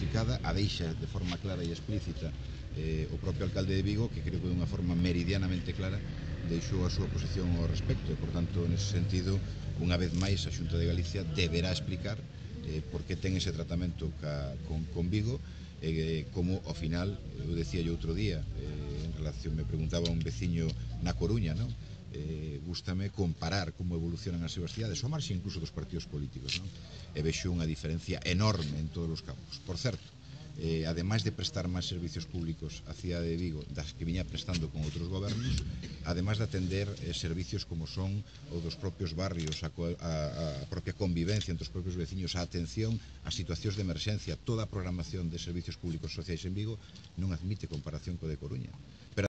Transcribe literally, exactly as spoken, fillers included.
explicada, a deixa de forma clara e explícita eh, o propio alcalde de Vigo, que creo que de unha forma meridianamente clara deixou a súa posición ao respecto, e, por tanto, nese sentido, unha vez máis, a Xunta de Galicia deberá explicar eh, por que ten ese tratamento ca, con, con Vigo, eh, como, ao final, eu decía yo outro día, eh, en relación, me preguntaba un veciño na Coruña, non? Eh, gústame comparar como evolucionan as súas cidades, ao marxe incluso dos partidos políticos, non? E vexo unha diferencia enorme en todos os campos. Por certo, eh, ademais de prestar máis servicios públicos a cidade de Vigo das que viña prestando con outros gobernos, ademais de atender eh, servicios como son o dos propios barrios, a, a, a propia convivencia entre os propios veciños, a atención a situacións de emerxencia, toda a programación de servicios públicos sociais en Vigo non admite comparación co de Coruña. Pero